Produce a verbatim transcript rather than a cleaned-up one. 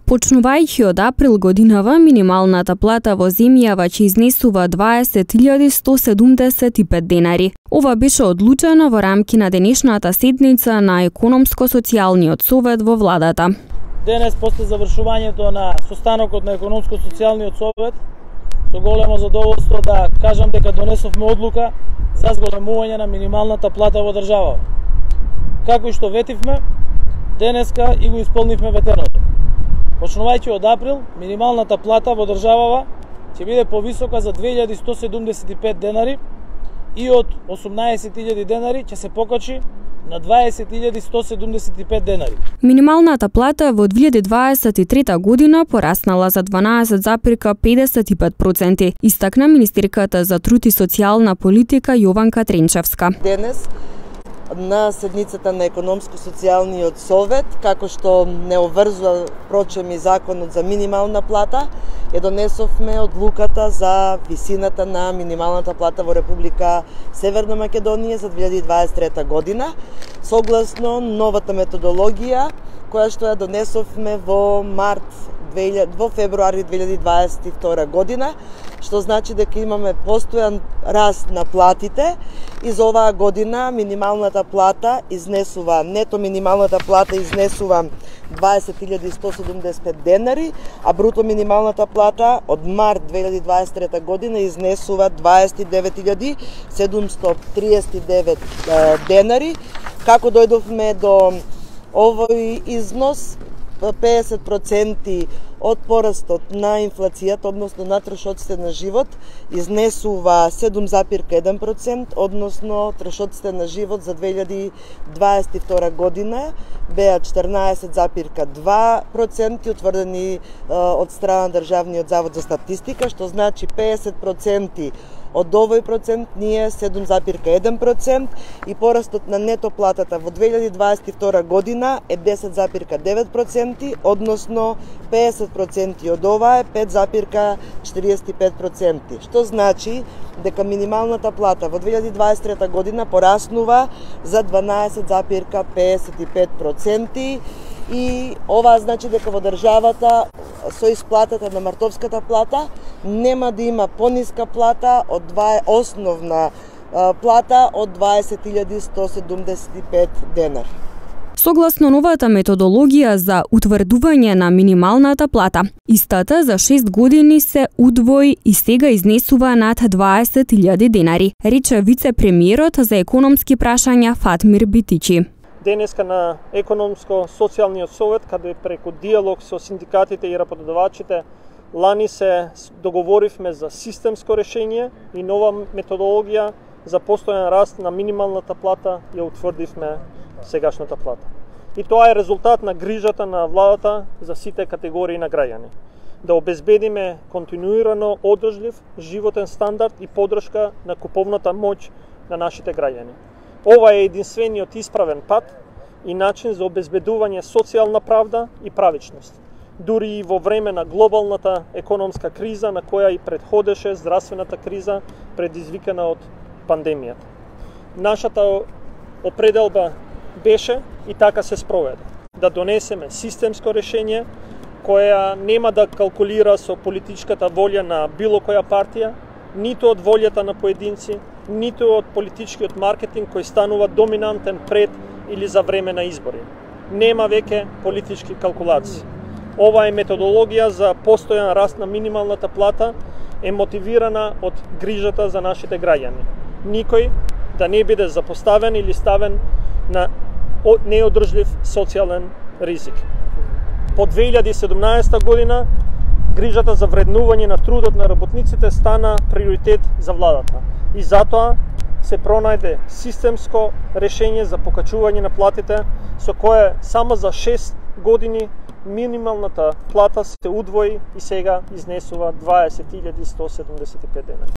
Почнувајќи од април годинава, минималната плата во земјава ќе изнесува дваесет илјади сто седумдесет и пет денари. Ова беше одлучено во рамки на денешната седница на Економско-социјалниот совет во владата. Денес, после завршувањето на состанокот на Економско-социјалниот совет, со големо задоволство да кажам дека донесовме одлука за зголемување на минималната плата во државава. Како и што ветивме, денеска и го исполнивме ветеното. Почнувајќи од април, минималната плата во државава ќе биде повисока за две илјади сто седумдесет и пет денари и од осумнаесет илјади денари ќе се покачи на дваесет илјади сто седумдесет и пет денари. Минималната плата во две илјади дваесет и трета година пораснала за дванаесет запирка педесет и пет проценти, истакна министерката за труд и социјална политика Јованка Тренчевска. Денес на седницата на Економско-социјалниот совет, како што не обврзува прочем и законот за минимална плата, ја донесовме одлуката за висината на минималната плата во Република Северна Македонија за две илјади дваесет и трета година, согласно новата методологија која што ја донесовме во март во февруари две илјади дваесет и втора година, што значи дека имаме постојан раст на платите и за оваа година минималната плата изнесува, нето минималната плата изнесува дваесет илјади сто седумдесет и пет денари, а бруто минималната плата од март две илјади дваесет и трета година изнесува дваесет и девет илјади седумстотини триесет и девет денари. Како дојдовме до овој износ, педесет проценти од порастот на инфлацијата, односно на трошоците на живот, изнесува седум запирка еден процент, односно трошоците на живот за две илјади дваесет и втора година беа четрнаесет запирка два проценти утврдени од страна Државниот завод за статистика, што значи педесет проценти од овој процент ние седум запирка еден процент и порастот на нето платата во две илјади дваесет и втора година е десет запирка девет проценти, односно педесет проценти од ова е пет запирка четириесет и пет проценти, што значи дека минималната плата во две илјади дваесет и трета година пораснува за дванаесет запирка педесет и пет проценти и ова значи дека во државата со исплатата на мартовската плата нема да има пониска плата од два основна плата од дваесет илјади сто седумдесет и пет денари. Согласно новата методологија за утврдување на минималната плата, истата за шест години се удвои и сега изнесува над дваесет илјади денари, рече вице-премиерот за економски прашања Фатмир Битичи. Денеска на Економско-социјалниот совет, каде преку диалог со синдикатите и работодавачите, лани се договоривме за системско решение и нова методологија за постојан раст на минималната плата ја утврдивме сегашната плата. И тоа е резултат на грижата на владата за сите категории на граѓани. Да обезбедиме континуирано одржлив животен стандард и поддршка на куповната моќ на нашите граѓани. Ова е единствениот исправен пат и начин за обезбедување социјална правда и правичност, дури и во време на глобалната економска криза на која и предходеше здравствената криза предизвикана од пандемијата. Нашата определба беше и така се спроведе да донесеме системско решение која нема да калкулира со политичката волја на било која партија, ниту од волјата на поединци, ниту од политичкиот маркетинг кој станува доминантен пред или за време на избори. Нема веќе политички калкулации. Ова е методологија за постојан раст на минималната плата, е мотивирана од грижата за нашите граѓани. Никој да не биде запоставен или ставен на неодржлив социјален ризик. По две илјади и седумнаесета година грижата за вреднување на трудот на работниците стана приоритет за владата и затоа се пронајде системско решение за покачување на платите со кое само за шест години минималната плата се удвои и сега изнесува дваесет илјади сто седумдесет и пет денари.